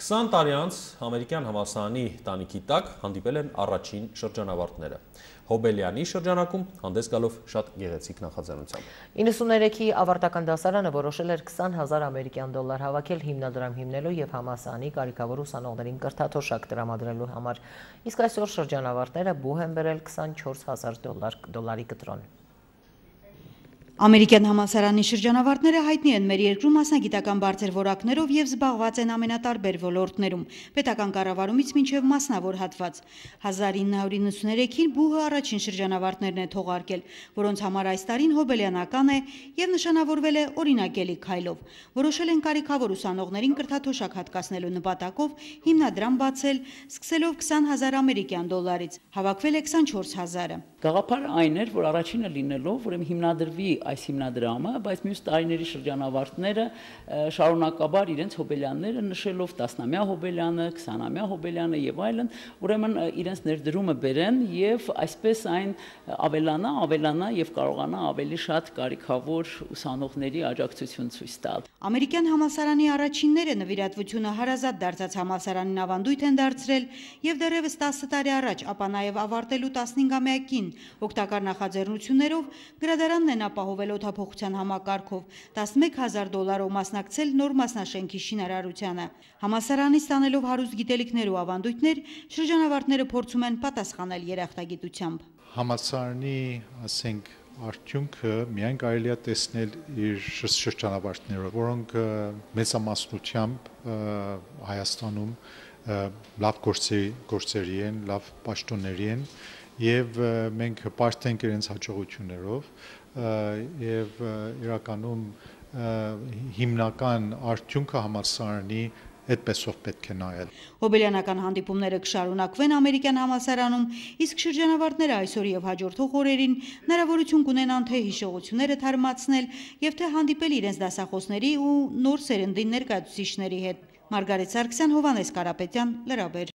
20 տարի անց ամերիկյան համալսարանի տանիքի տակ հանդիպել են առաջին շրջանավարտները։ Հոբելյանի շրջանակում հանդես գալով շատ գեղեցիկ նախաձեռնությամբ։ 93-ի ավարտական դասարանը որոշել էր 20,000 ամերիկյան դոլար հավաքել հիմնադրամ հիմնելու և համալսարանի կարիքավոր ուսանողներին կրթաթոշակ տրամադրելու համար, իսկ այսօր շրջանավարտները բուհ են բերել 24,000 դոլարի կտրոն։ Ամերիկյան համալսարանի շրջանավարտները հայտնի են մեր երկրում մասնագիտական բարձր որակներով և զբաղված են ամենատարբեր ոլորտներում, պետական կառավարումից մինչև մասնավոր հատված։ 1993-ին բուհը առաջին շրջանավարտներն է թողարկել, որոնց համար այս տարին հոբելյանական է և նշանավորվել է օրինակելի քայլով։ Որոշել են կարիքավոր ուսանողներին կրթաթոշակ հատկացնելու նպատակով հիմնադրամ բացել, սկսելով 20,000 ամերիկյան դոլարից, հավաքվել է 24,000-ը։ Գաղափարը այն էր, որ առաջինը լինելով, ուրեմն հիմնադրվի այս հիմնադրամը, բայց մյուս տարիների շրջանավարտները շարունակաբար իրենց հոբելյանները նշելով 10-ամյա հոբելյանը, 20-ամյա հոբելյանը եւ այլն, ուրեմն իրենց ներդրումը բերեն եւ այսպես այն ավելանա եւ կարողանա ավելի շատ կարիքավոր ուսանողների աջակցություն ցույց տալ։ Ամերիկյան համալսարանի առաջինները նվիրատվությունը հարազատ դարձած համալսարանին ավանդույթ են դարձրել եւ դեռևս 10 տարի առաջ, ապա նաեւ ավարտելու 15-ամյակին օգտակար նախաձեռնություններով գրադարանն են ապահովել օդափոխության համակարգով, 11,000 դոլարով մասնակցել նոր մասնաշենքի շինարարությանը։ Համալսարանից ստանելով հարուստ գիտելիքներ ու ավանդույթներ, շրջանավարտները փորձում են պատասխանել երախտագիտությամբ։ Համալսարանի, ասենք, արդյունքը միայն կարելի է տեսնել իր շրջանավարտներով, որոնք մեծամասնությամբ Հայաստանում լավ գործերի են, լավ պաշտոնների են եւ մենք հպարտ ենք իրենց հաջողություններով եւ իրականում հիմնական արդյունքը համալսարանի այդպեսով պետք է նայել։ Հոբելյանական հանդիպումները կշարունակվեն ամերիկյան համալսարանում, իսկ շրջանավարտները այսօր եւ հաջորդող օրերին հնարավորություն կունենան թե հիշողությունները թարմացնել եւ թե հանդիպել իրենց դասախոսների ու նոր սերնդի ներկայացուցիչների հետ։ Մարգարիտ Սարգսյան, Հովհաննես Կարապետյան, Լրաբեր։